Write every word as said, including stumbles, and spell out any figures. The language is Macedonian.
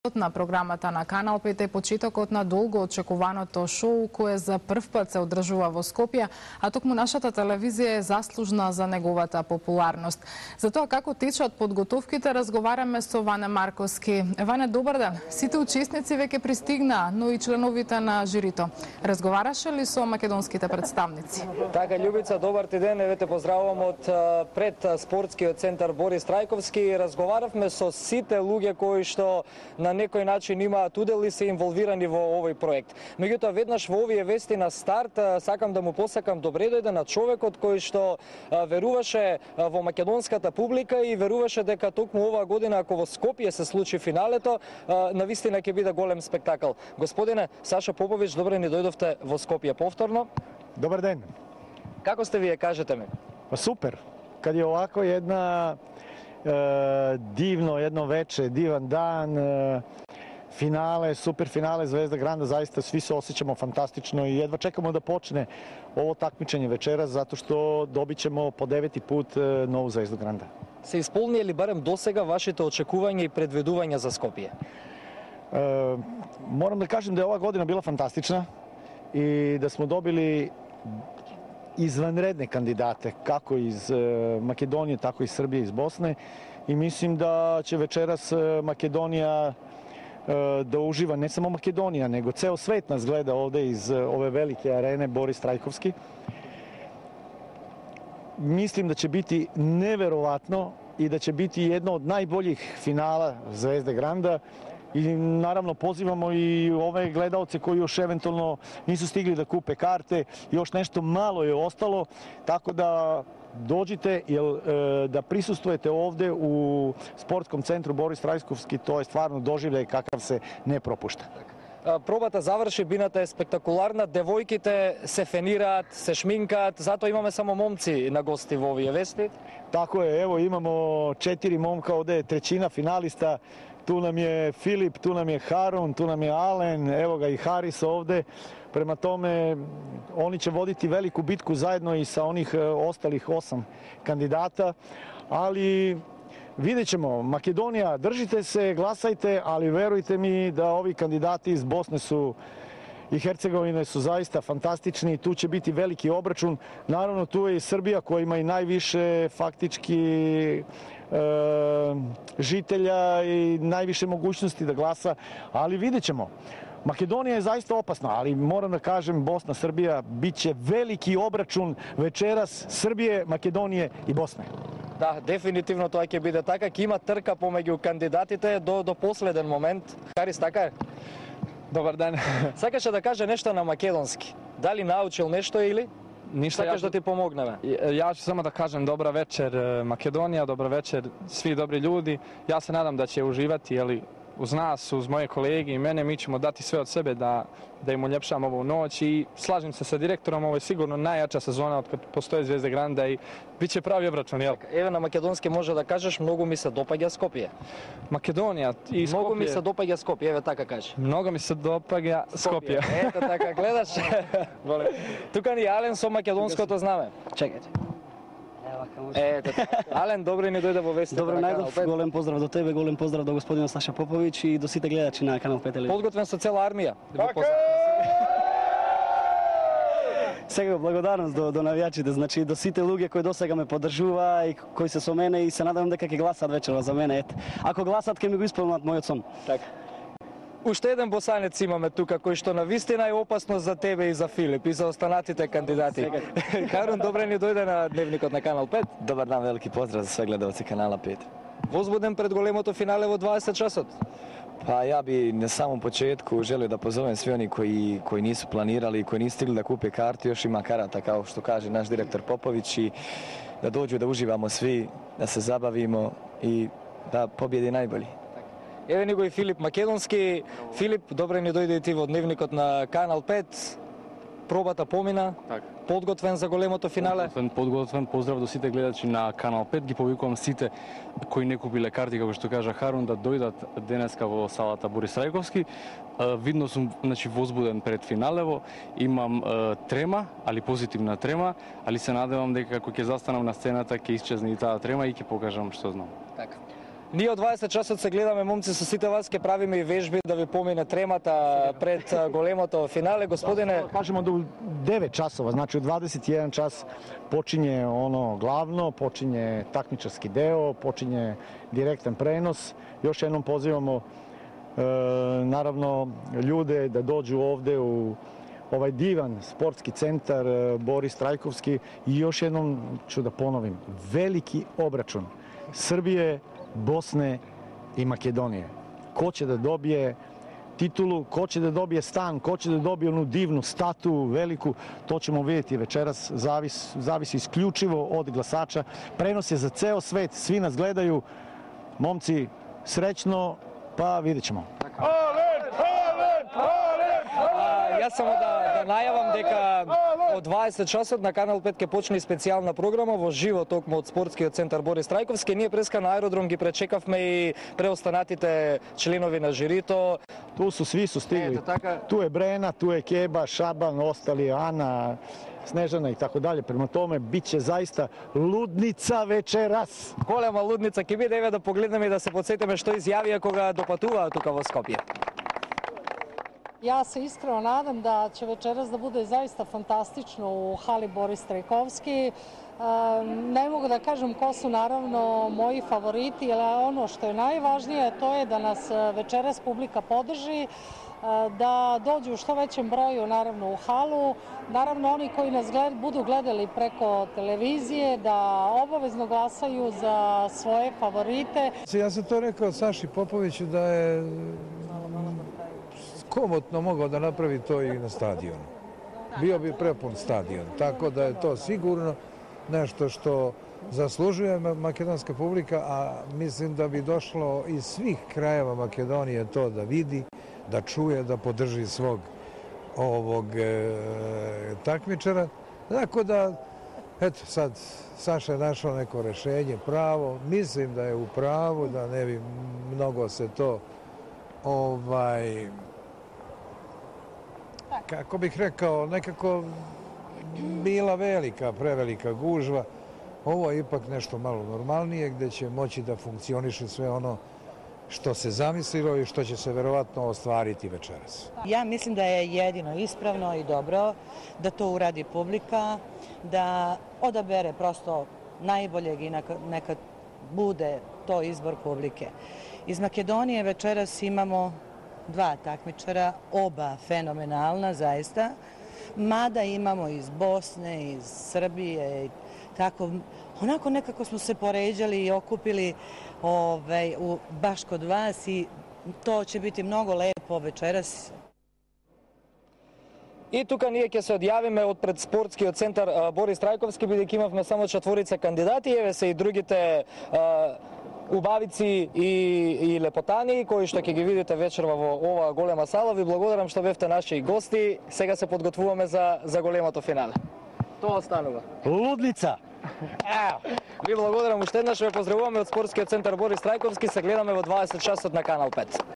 На програмата на Канал пет е почетокот на долго очекуваното шоу кое за прв пат се одржува во Скопје, а токму нашата телевизија е заслужна за неговата популарност. За тоа како течат подготовките разговараме со Ване Марковски. Ване, добар ден. Сите учесници веќе пристигнаа, но и членовите на жирито. Разговараше ли со македонските представници? Така, Љубица, добар ти ден. Еве те поздравувам од пред спортскиот центар Борис Трајковски. Разговаравме со сите луѓе кои што на некој начин имаат удел и се инволвирани во овој проект. Меѓутоа, веднаш во овие вести на старт, сакам да му посакам добре дојде на човекот кој што веруваше во македонската публика и веруваше дека токму оваа година, ако во Скопје се случи финалето, навистина ќе биде голем спектакл. Господине Саша Попович, добре ни дојдовте во Скопје повторно. Добар ден. Како сте вие, кажете ми? Па супер. Кад е овако една е, дивно едно вече, диван дан, е, финале, супер финале Звезда Гранда, заista svi se osjećamo fantastično i jedva čekamo da počne ovo takmičenje večeras zato što dobit ćemo po deveti put e, novu Zvezdu Granda. Се исполнија ли барем досега вашите очекувања и предвидувања за Скопје? E, moram da kažem da je ova godina bila fantastična i da smo dobili izvanredne kandidate, kako iz e, Makedonije, tako i iz Srbije, iz Bosne, i mislim da će večeras e, Makedonija e, da uživa, ne samo Makedonija, nego ceo svet nas gleda ovde iz e, ove velike arene Boris Trajkovski. Mislim da će biti neverovatno i da će biti jedno od najboljih finala Zvezde Granda. I naravno pozivamo i ove gledaoce koji još eventualno nisu stigli da kupe karte, još nešto malo je ostalo, tako da dođite, jer da prisustvujete ovde u sportskom centru Boris Trajkovski, to je stvarno doživljaj kakav se ne propušta. Пробата заврши, бината е спектакуларна, девојките се фенираат, се шминкаат, затоа имаме само момци на гости во овие вести. Tako je, evo imamo četiri momka, ovde je trećina finalista, tu nam je Filip, tu nam je Harun, tu nam je Alen, evo ga i Haris ovde. Prema tome, oni će voditi veliku bitku zajedno i sa onih ostalih osam kandidata, ali vidjet ćemo. Makedonija, držite se, glasajte, ali verujte mi da ovi kandidati iz Bosne su i Hercegovine su zaista fantastični, tu će biti veliki obračun. Naravno, tu je i Srbija koja ima i najviše faktički e, žitelja i najviše mogućnosti da glasa, ali vidjet ćemo. Makedonija je zaista opasna, ali moram da kažem, Bosna, Srbija, bit će veliki obračun večeras Srbije, Makedonije i Bosne. Да, дефинитивно тоа ќе биде така, ќе има трка помеѓу кандидатите до до последен момент. Харис, така е? Добар ден. Сакаше да каже нешто на македонски. Дали научил нешто или Ништо, сакаш јас да ти помогнеме? Јас ќе само да кажем добра вечер Македонија, добра вечер сви добри људи. Јас се надам да ќе уживати, ели, uz nas, uz moje kolege i mene, mi ćemo dati sve od sebe da, da im uljepšamo ovu noć i slažem se sa direktorom, ovo je sigurno najjača sezona od kad postoje Zvezde Granda i bit će pravi obračun, jel? Еве на македонски може да кажеш, многу ми се допаѓа Скопје. Македонија и Скопје. Многу ми се допаѓа Скопје, еве така кажи. Много ми се допаѓа Скопје. Ето така, гледаш. Тука ни Ален со македонското знаме. Чекајте. Ето, Ален, добре ни дојде во вестите Добро на Канал најдов, пет. голем поздрав до тебе, голем поздрав до господинот Саша Попович и до сите гледачи на Канал пет телевизија. Подготвен со цела армија. Сега благодарност до, до навијачите, значи до сите луѓе кои досега ме поддржува и кои се со мене и се надевам дека ќе гласат вечерва за мене. Ет. Ако гласат ќе ми го исполнат мојот сон. Така. Уште еден босанец имаме тука кој што навистина е опасно за тебе и за Филип и за останатите кандидати. Харун, добре ни дојде на дневникот на Канал пет. Добар дан, велики поздрав за све гледалци Канала пет. Возбуден пред големото финале во дваесет часот. Pa ja bi na samom početku želio da pozovem svi oni koji, koji nisu planirali i koji nisu stigli da kupe kartu, još ima karata kao što kaže naš direktor Popović, i da dođu da uživamo svi, da se zabavimo i da pobjedi najbolji. Еве ни го и Филип Македонски. Филип, добре ни дојде и ти во дневникот на Канал пет. Пробата помина. Так. Подготвен за големото финале. Подготвен, подготвен, поздрав до сите гледачи на Канал пет. Ги повикувам сите кои не купиле карти, како што кажа Харун, да дојдат денеска во салата Борис Трајковски. Видно сум, значи, возбуден пред финалево. Имам е, трема, али позитивна трема, али се надевам дека како ќе застанам на сцената ќе исчезне и таа трема и ќе покажам што знам. Така. Ние од дваесет часот се гледаме, момци, со сите вас ке правиме и вежби да ви помине тремата пред големото финале. Господине, Кажемо до девет часова, значи од дваесет и еден час почиње оно главно, почиње такмичарски дeo, почиње директен пренос. Још едном позивамо е, наравно лjude да доđu овде у ovaj divan sportski centar Boris Trajkovski i još jednom ću da ponovim, veliki obračun Srbije, Bosne i Makedonije. Ko će da dobije titulu, ko će da dobije stan, ko će da dobije onu divnu statu, veliku, to ćemo vidjeti večeras, zavis, zavisi isključivo od glasača. Prenos je za ceo svet, svi nas gledaju, momci, srećno, pa vidjet ćemo. Јас само да, да најавам дека од дваесет часот на Канал пет ќе почне и специјална програма во живо токму од спортскиот центар Борис Трајковски. Ние преска на аеродром ги пречекавме и преостанатите членови на жирито. Tu su, svi su stigli. Ето така. Tu je Brena, tu je Keba, Šaban, ostali, Ana, Snežana i tako dalje. Prema tome, bit će zaista ludnica večeras. Голема лудница ќе биде, еве да погледнеме и да се подсетиме што изјавија кога допатуваа тука во Скопје. Ja se iskreno nadam da će večeras da bude zaista fantastično u hali Boris Trajkovski. Ne mogu da kažem ko su naravno moji favoriti, ali ono što je najvažnije to je da nas večeras publika podrži, da dođu u što većem broju naravno u halu. Naravno oni koji nas gled, budu gledali preko televizije da obavezno glasaju za svoje favorite. Ja sam to rekao Saši Popoviću da je komotno mogao da napravi to i na stadionu. Bio bi prepun stadion, tako da je to sigurno nešto što zaslužuje makedonska publika, a mislim da bi došlo iz svih krajeva Makedonije to da vidi, da čuje, da podrži svog ovog e, takmičara. Tako da, eto sad, Saša je našao neko rešenje pravo, mislim da je u pravu, da ne bi mnogo se to ovaj kako bih rekao, nekako bila velika, prevelika gužva. Ovo je ipak nešto malo normalnije, gde će moći da funkcioniše sve ono što se zamislilo i što će se verovatno ostvariti večeras. Ja mislim da je jedino ispravno i dobro da to uradi publika, da odabere prosto najboljeg i neka bude to izbor publike. Iz Makedonije večeras imamo dva takmičara, oba fenomenalna zaista, mada imamo iz Bosne, iz Srbije, tako, onako nekako smo se poređali i okupili ovaj, u, baš kod vas i to će biti mnogo lepo večeras. И тука ние ќе се одјавиме од пред спортскиот центар Борис Трајковски, бидејќи имавме само четворица кандидати, еве се и другите убавици и, и лепотани, кои што ќе ги видите вечерва во оваа голема сала. Ви благодарам што бевте наши гости. Сега се подготвуваме за, за големото финале. Тоа останува. Ludnica! Ви благодарам уште еднаш, ве поздравуваме од спортскиот центар Борис Трајковски. Се гледаме во дваесет часот на Канал пет.